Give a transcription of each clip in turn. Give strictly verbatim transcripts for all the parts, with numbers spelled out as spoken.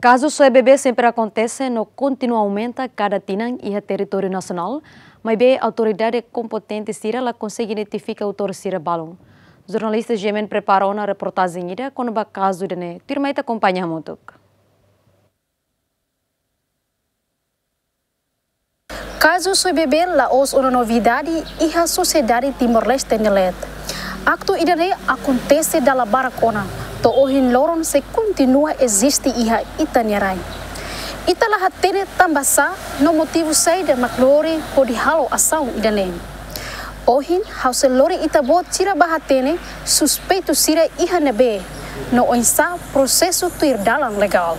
Kazu soe bebé sempre akontese no kontinua aumenta kada tinan iha territóriu nasionál, maibé autoridade kompetente sira la konsege identifika autór sira balun. Jornalista G M N prepara ona reportajen ida kona-ba kazu ida-ne'e, tuirmai ita akompaña hamutuk. Kazu soe bebé la'ós ona novidade iha sosiedade Timor-Leste nia leet. Aktu ida-ne'e akontese dala barak ona, to'o ohin loron sei kontinua eziste iha ita-nia rai. Ita la hatene tanbasá no motivu saida mak lori hodi halo asaun ida-ne'e. Ohin, ha'u sei lori ita-boot sira ba hatene suspeitu sira iha ne'ebé, no oinsá prosesu tuir dalan legál.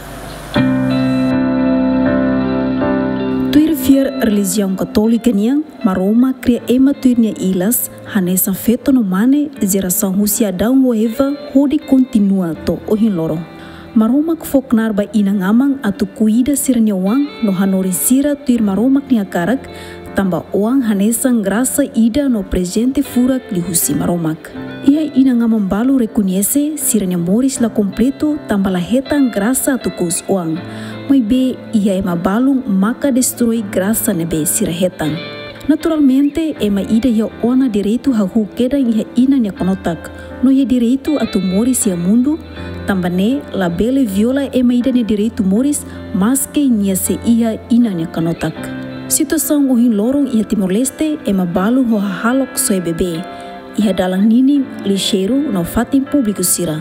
Tuir fiar relijiaun Katólika nian, Maromak kria ema tuir nia ilas, hanesan feto no mane, jerasaun husi Adão ho Eva, hodi kontinua to'o ohin loron. Maromak fó knaar ba inan-aman atu kuida sira-nia oan no hanorin sira tuir Maromak nia hakarak, tanba oan hanesan grasa ida no prezente furak liuhusi Maromak. Iha inan-aman balu rekoñese sira-nia moris la kompletu tanba la hetan grasa atu kous oan. Maibé iha ema balun maka destroi grasa ne'ebé sira hetan. Naturalmente, ema ida iha ona direitu hahú kedan iha inan nia kanotak, no iha direitu atu moris iha mundu, tanba ne'e labele viola ema ida nia direitu moris, maske nia sei iha inan nia kanotak. Situasaun ohin loron iha Timor-Leste, ema balu ho hahalok soe bebé, iha dalan ninin lixeiru no fatin públiku sira.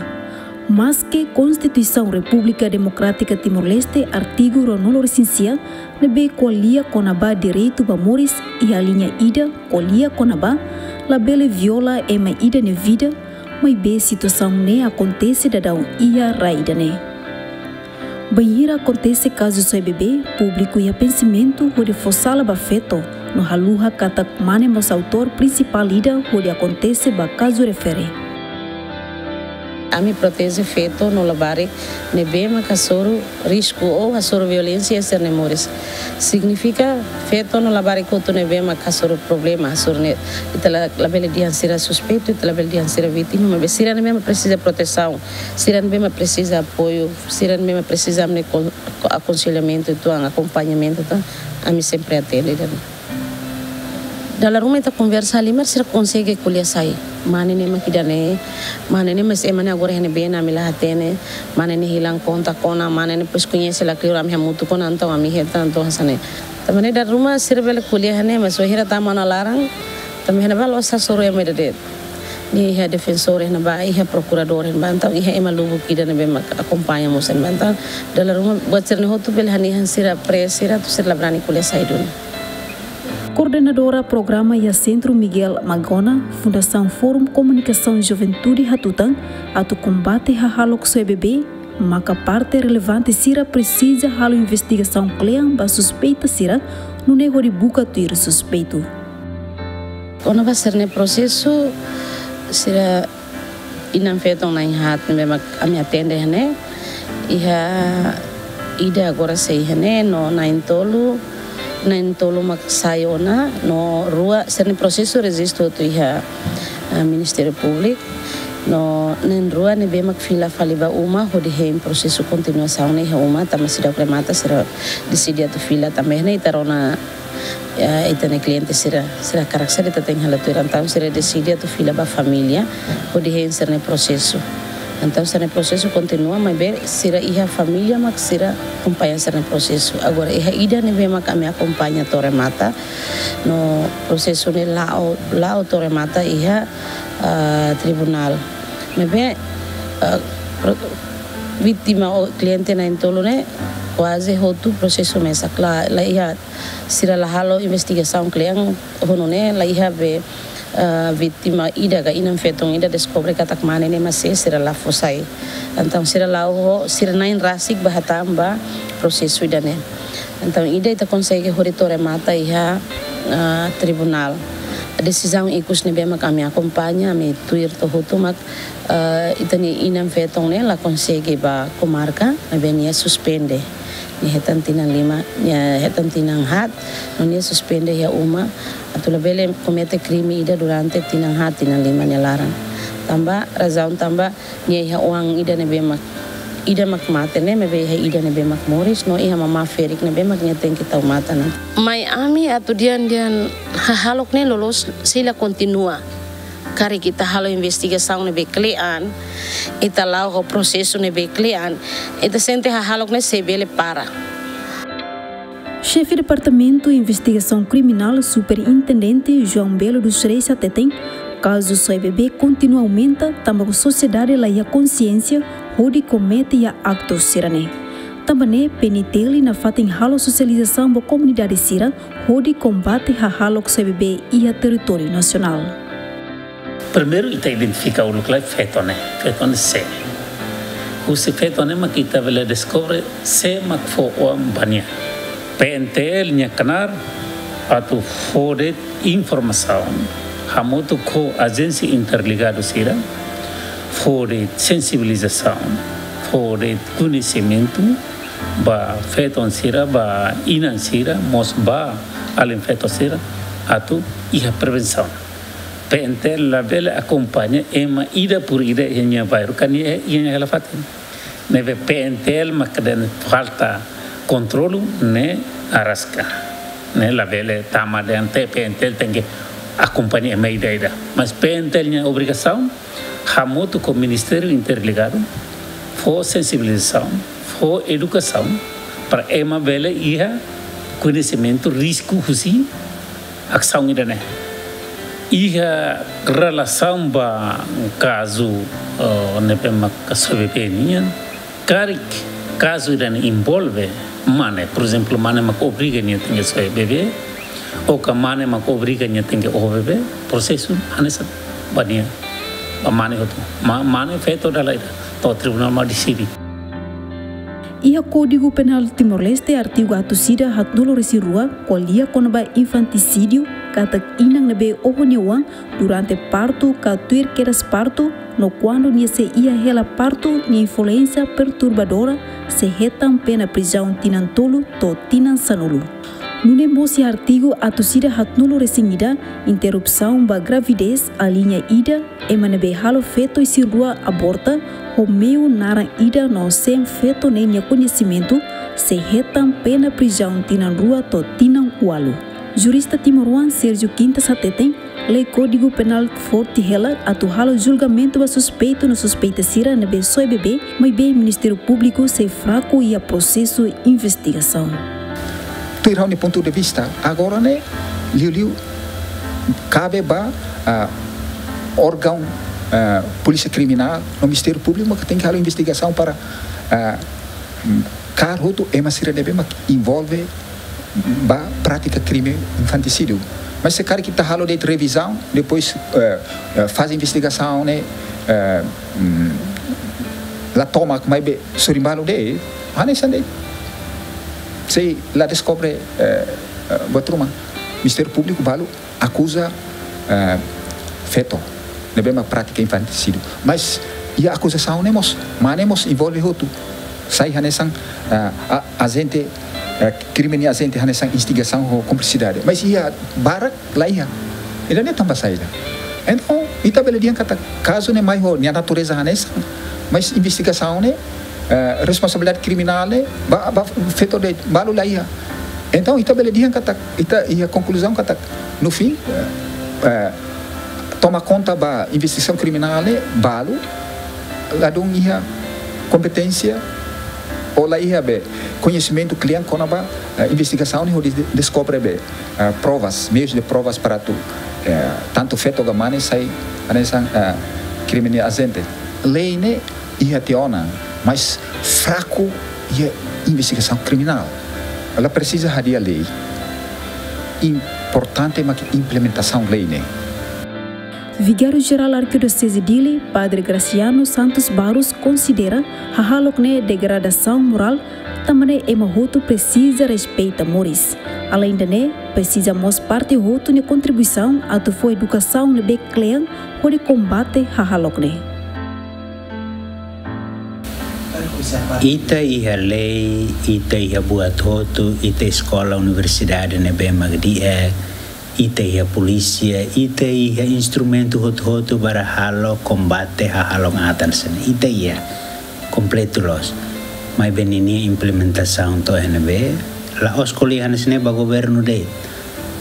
Maske Konstituisaun Repúblika Demokrátika Timor-Leste artigu ruanulu-resin-sia ne'ebé ko'alia kona-ba direitu ba moris iha liña ida ko'alia kona-ba labele viola ema ida nia vida, maibé situasaun ne'e akontese daudaun iha rai ida-ne'e. Bainhira akontese kazu soe bebé, públiku iha pensamentu hodi fó sala ba feto, no haluha katak mane mós autór prinsipál ida hodi akontese ba kazu refere. Ami proteje feto no labarik ne'ebé mak hasoru risku ou hasoru violénsia iha sira-nia moris. Signifika feto no labarik hotu ne'ebé mak hasoru problema, hasoru ne'e, ita la, labele dehan sira suspeitu, ita labele dehan sira vítima, maibé sira ne'ebé mak presiza protesaun, sira ne'ebé mak presiza apoiu, sira ne'ebé mak presiza ami-nia kon-, akonselhamentu uitoan, akompañamentu uitoan, ami sempre atende ida-ne'e. Dala ruma ita konversa halimar, sira konsege ko'alia sai. Mane ne'e mak ida-ne'e, mane ne'e mós ema ne'e agora iha ne'ebé, ami la hatene, mane ne'e hilang kontak ona, mane ne'e depois koñese la kleur, ami hamutuk ona, entaun ami hetan, entaun hanesan ne'e. Tanba ne'e dala ruma sira bele ko'alia hanesan ne'e, mas wainhira tama ona laran, tanba iha ne'ebá la'ós hasoru ema ida de'it. Nia iha defensór iha ne'ebá, iha prokuradór iha ne'ebá, entaun iha ema lubuk ida ne'ebé mak akompaña mós iha ne'ebá. Entaun dala ruma buat sira-ne'e hotu bele hanehan sira presa, sira atu sira la brani ko'alia sai duni. Koordenadora programa iha Sentru Miguel Magona, Fundasaun Forum Komunikasaun Juventude hatutan, atu kombate hahalok soe bebé, maka parte relevante sira presiza halo investigasaun klean ba suspeita sira, nune'e hodi buka tuir suspeitu. Kona-ba sira-nia prosesu, sira inan-feton na'in-haat ne'ebé mak ami atende iha ne'e. Iha ida agora sei iha ne'e, no na'in-tolu, na'in-tolu mak sai ona, no rua, sira-nia prosesu rejistu hotu iha, eh, Ministériu Públiku, no na'in-rua ne'ebé mak fila fali ba uma, hodi hein prosesu kontinuasaun ne'e iha uma, tanba seidauk remata, sira deside atu fila tanba ne'e, ita rona, eh, ita-nia kliente sira, sira hakarak saida ita tenke halo tuir, entaun sira deside atu fila ba família, hodi hein sira-nia prosesu. Entaun sira-nia prosesu kontinua, maibé sira iha família mak sira akompaña sira-nia prosesu. Agora, iha ida ne'ebé mak ami akompaña to'o remata, no prosesu ne'e la'o, la'o to'o remata iha, ah, tribunál. Maibé, ah, pro-, vítima ou kliente na'in-tolu ne'e, kuaze hotu prosesu mesak, la, la iha, sira la halo investigasaun klean, ho nune'e la iha be, eh, vítima ida ka inan-feton ida deskobre katak mane ne'e mak sei, sira la fó sai. Entaun sira la'o ho sira na'in rasik ba hatán ba prosesu ida-ne'e. Entaun ida ita konsege hodi to'o remata iha, eh, tribunál. Desizaun ikus ne'ebé mak ami akompaña, ami tuir to'o hotu mak, eh, ita-nia inan-feton ne'e la konsege ba komarka, maibé nia suspende. Nia hetan tinan lima, nia hetan tinan haat, no nia suspende iha uma, atu labele komete krime ida durante tinan haat, tinan lima nia laran. Tanba, razaun tanba, nia iha oan ida ne'ebé mak Ida mak mate ne'e, maibé iha ida ne'ebé mak moris, no iha mamá ferik ne'ebé mak nia tenke tau matan. Mai ami atu dehan, dehan hahalok ne'e loloos sei la kontinua. Karik ita halo investigasaun ne'ebé kle'an, ita la'o ho prosesu ne'ebé kle'an, ita sente hahalok ne'e sei bele para. Xefe Departamentu Investigasaun Kriminál, Superintendente João Belo dos Reis hateten, kazu soe bebé kontinua aumenta, tanba sosiedade la iha konsiénsia hodi komete iha aktu sira-ne'e. Tanba ne'e, P N T L nafatin halo sosializasaun ba komunidade sira hodi kombate hahalok soe bebé iha territóriu nasionál. Primeiru, ita identifika uluk lai feto ne'e. Feto ne'e sé. Husi feto ne'e mak ita bele deskobre sé mak fó oan ba nia. P N T L nia knaar atu fó de'it informasaun hamutuk ho ajénsia interligadu sira, fó de'it sensibilizasaun, fó de'it koñesimentu ba feton sira, ba inan sira, mós ba alin feto sira, atu iha prevensaun. P N T L labele akompaña ema ida por ida iha nia bairru, ka nia iha nia hela fatin. Ne'ebé P N T L mak dehan falta kontrolu ne'e araska. Ne'e labele tama dehan P N T L tenke akompaña ema ida-ida. Mas P N T L nia obrigasaun hamutuk ho Ministériu Interligadu, fó sensibilizasaun, fó edukasaun, para ema bele iha koñesimentu risku husi asaun ida-ne'e. Iha relasaun ba kazu, eh, ne'ebé mak soe bebé nian, karik kazu ida-ne'e envolve mane, por ezemplu, mane mak obriga nia tenke soe bebé, ou ka mane mak obriga nia tenke oho bebé, prosesu hanesan ba nia, ba mane hotu. Ma-, mane feto dala ida, to'o tribunál mak deside. Iha Kódigu Penál Timor-Leste, artigu atus ida haatnulu resin rua, ko'alia kona-ba infantisídiu, katak inan ne'ebé oho nia oan durante partu ka tuir kedas partu, no kuandu nia sei iha hela partu, nia influénsia perturbadora, sei hetan pena prizaun tinan tolu to'o tinan sanulu. Nune'e mós iha artigu atus ida haatnulu resin ida, interrupsaun ba gravidez, aliña ida, ema ne'ebé halo feto isin rua aborta, ho meiu naran ida no sein feto ne'e nia koñesimentu, sei hetan pena prizaun tinan rua to'o tinan ualu. Jurista timoroan Sérgio Quintas hateten, lei Kódigu Penál forte hela atu halo julgamentu ba suspeitu no suspeita sira ne'ebé soe bebé, maibé Ministériu Públiku sei fraku iha prosesu investigasaun. Tuir ha'u-nia pontu de vista, agora ne'e, liuliu kabe ba, ah, órgaun, ah, Polísia Kriminál no Ministériu Públiku mak tenke halo investigasaun para, ah, kaer hotu ema sira ne'ebé mak envolve ba prátika krime infantisídiu. Mas se karik ita halo de'it revizaun, depois, eh, eh, faze investigasaun ne'e, eh, mm, la tomak, maibé sorin balu de'it, hanesan de'it. Sei la deskobre, eh, eh, buat ruma. Ministériu Públiku balu akuza, eh, feto ne'ebé mak prátika infantisídiu. Mas iha akuzasaun ne'e mós, mane mós envolve hotu. Sai hanesan, eh, a-, ajente, eh, krime nia ajente hanesan instigasaun ho kumplisidade. Mas iha barak la iha. Ida-ne'e tanba saida? Entaun, ita bele dehan katak kazu ne'e mai ho nia natureza hanesan, mas investigasaun ne'e, eh, responsabilidade kriminál ne'e ba, ba feto de'it, balu la iha. Entaun, ita bele dehan katak, ita iha konkluzaun katak, no fim, eh, eh, toma konta ba investigasaun kriminál ne'e, balu ladún iha kompeténsia, ou la iha be koñesimentu kle'an kona-ba, eh, investigasaun ne'e hodi de-, deskobre be, eh, provas, meius de provas para atu, eh, tantu feto ka mane sai hanesan, eh, krime nia ajente. Lei ne'e iha tiha ona, mas fraku iha investigasaun kriminál. La presiza hadi'a lei. Importante mak implementasaun lei ne'e. Vigáriu Jerál Arkidioseze Dili, Padre Graciano Santos Barros, konsidera hahalok ne'e degradasaun morál, tanba ne'e ema hotu presiza respeita moris. Aleinde ne'e, presiza mós parte hotu nia kontribuisaun atu fó edukasaun ne'ebé kle'an hodi kombate hahalok ne'e. Ita iha lei, ita iha buat hotu, ita eskola, universidade ne'ebé mak di'ak, ita iha polísia, ita iha instrumentu hotu-hotu para halo kombate hahalok atan sira-ne'e. Ita iha. kompletu loos. Maibé ninia implementasaun to'o iha ne'ebé, la'ós ko'alia hanesan ne'e ba governu de'it.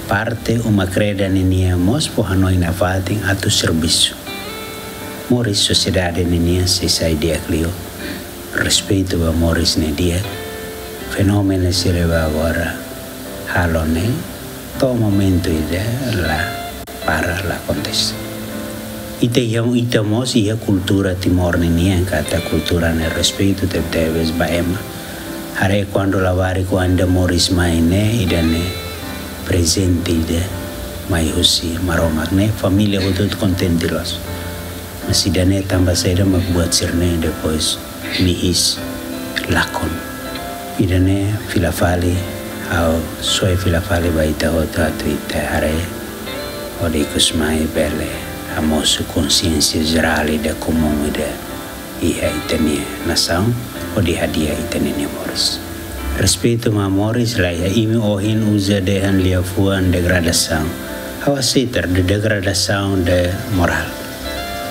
Parte uma-kreda ninian mós fó hanoin nafatin atu servisu. Moris sosiedade ninian sei sai di'ak liu. Respeitu ba moris ne'e di'ak. Fenómenu sira ba agora halo ne'e, to'o momentu ida la para, la akontese. Ita iha, ita mós iha kultura Timor ninian, katak kultura ne'e respeitu tebetebes ba ema. Haree kuandu labarik oan ida moris mai ne'e, ida-ne'e prezente ida mai husi Maromak ne'e, família hotu-hotu kontente loos. Mas ida-ne'e tanba saida mak buat sira-ne'e depois mihis, lakon. Ida-ne'e fila fali, ha'u soe fila fali ba ita hotu atu ita haree, hodi ikus mai bele hamosu konsiénsia jerál ida komún ida iha ita-nia nasaun, hodi hadi'a ita-nia moris. Respeitu ba moris la iha, imi ohin uza dehan liafuan degradasaun. Ha'u aseita de-, degradasaun de morál.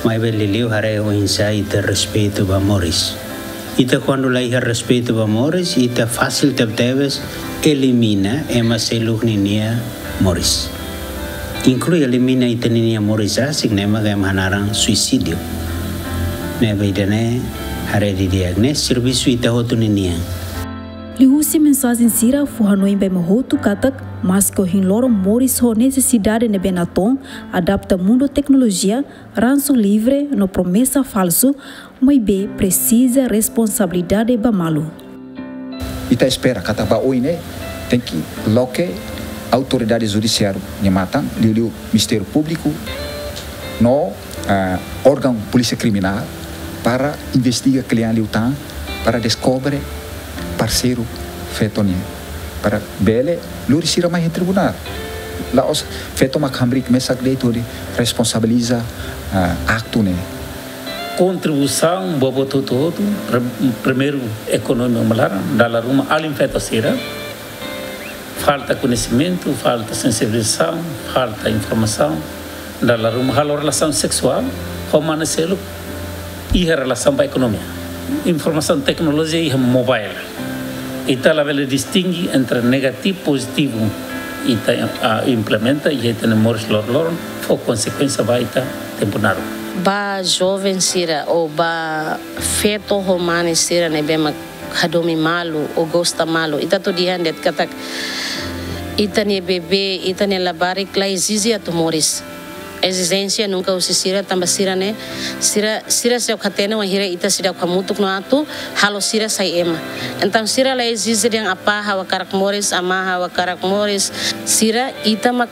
Maibé liuliu haree oinsá ita respeitu ba moris. Ita kuandu la iha respeitu ba moris, ita fasil tebetebes elimina ema seluk ninia moris. Inklui elimina ita ninia moris rasik, ne'e mak ema hanaran suisídiu. Ne'ebé ida-ne'e haree didi'ak, ne'e servisu ita hotu ninian. Liuhusi mensajen sira fó hanoin ba ema hotu katak, maske ohin loron moris ho nesesidade ne'ebé natoon, adapta mundu teknolojia, ransu livre no promesa falsu, maibé presiza responsabilidade ba malu. Ita espera katak ba oin ne'e tenke loke autoridade judisiáriu nia matan, liuliu Ministériu Públiku no, ah, órgaun polísia kriminál para investiga kle'an liután, para deskobre parseiru feto nian, para bele lori sira mai iha tribunál. La'ós feto mak hamriik mesak de'it hodi responsabiliza, ah, aktu ne'e. Kontribuisaun ba buat hotu-hotu, pre-, primeiru ekonomia uma laran, dala ruma alin feto sira, falta koñesimentu, falta sensibilizasaun, falta informasaun, dala ruma halo relasaun seksuál ho mane seluk, iha relasaun ba ekonomia. Informasaun, teknolojia iha mobile. Ita labele distinge entre negativu, pozitivu. Ita, ah, implementa iha ita-nia moris loroloron, fó konsekuénsia ba ita tempu naruk. Ba joven sira ou ba feto ho mane sira ne'ebé mak hadomi malu ou gosta malu, ita atu dehan de'it katak ita-nia bebé, ita-nia labarik la ezije atu moris. Ezijénsia nunka husi sira, tanba sira ne'e, sira, sira seidauk hatene wainhira ita seidauk hamutuk no atu halo sira sai ema. Entaun sira la ezije dehan apá ha'u hakarak moris, amá ha'u hakarak moris. Sira, ita mak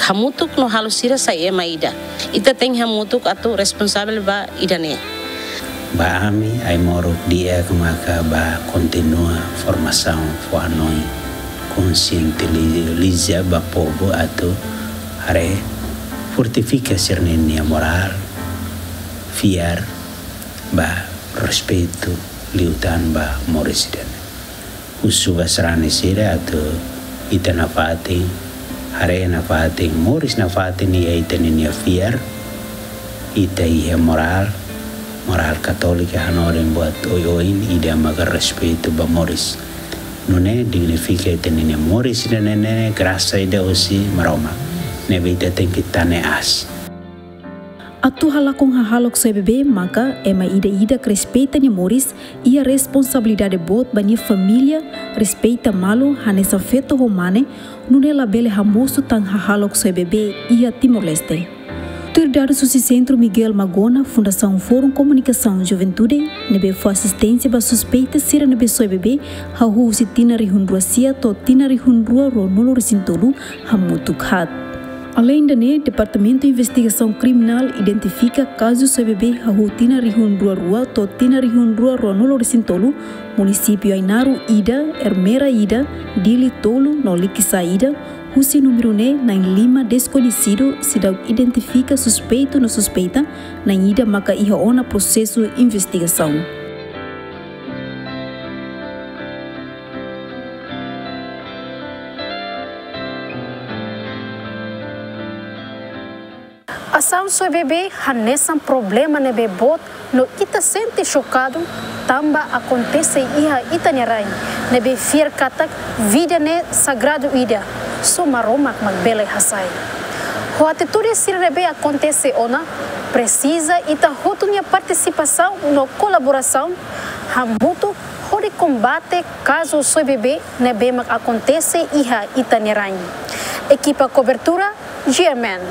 hamutuk no halo sira sai ema ida. Ita tenke hamutuk atu responsavel ba ida-ne'e. Ba ami, ai-moruk di'ak maka ba kontinua formasaun fó hanoin konsientiliza ba povu atu haree, fortifika sira-nia morál, fiar ba respeitu liután ba moris ida-ne'e. Husu ba sarani sira atu ita nafatin, haree nafatin, moris nafatin iha ita ninia fiar, ita iha morál, morál katólika hanorin buat oioin, ida maka respeitu ba moris. Nune'e dignifika ita ninia moris ida-ne'e, ne'e grasa ida husi Maromak. Ne'ebé ita tenke tane aas. Atu halakon hahalok soe bebé maka ema ida-idak respeita nia moris, iha responsabilidade boot ba nia família, respeita malu hanesan feto ho mane, nune'e labele hamosu tan hahalok soe bebé iha Timor-Leste. Tuir dadus husi Sentru Miguel Magona, Fundasaun Forum Komunikasaun Juventude, ne'ebé fó asisténsia ba suspeita sira ne'ebé soe bebé, hahú husi tinan rihun rua sia to'o tinan rihun rua ruanulu resin tolu, hamutuk haat. Aleinde ne'e, Departamentu Investigasaun Kriminál identifika kazu soe bebé hahú tinan rihun rua rua to'o tinan rihun rua ruanulu resin tolu, munisípiu Ainaro ida, Ermera ida, Dili tolu no Likisá ida, husi númeru ne'e na'in lima deskoñesidu seidauk identifika suspeitu no suspeita, na'in ida maka iha ona prosesu investigasaun. Asaun soe bebé hanesan problema ne'ebé boot no ita sente xokadu tanba akontese iha ita-nia rain, ne'ebé fiar katak vida ne'e sagradu ida, só Maromak mak bele hasai. Ho atitude sira ne'ebé akontese ona, presiza ita hotu nia partisipasaun no kolaborasaun hamutuk hodi kombate kazu soe bebé ne'ebé mak akontese iha ita-nia rain. Ekipa kobertura, G M N.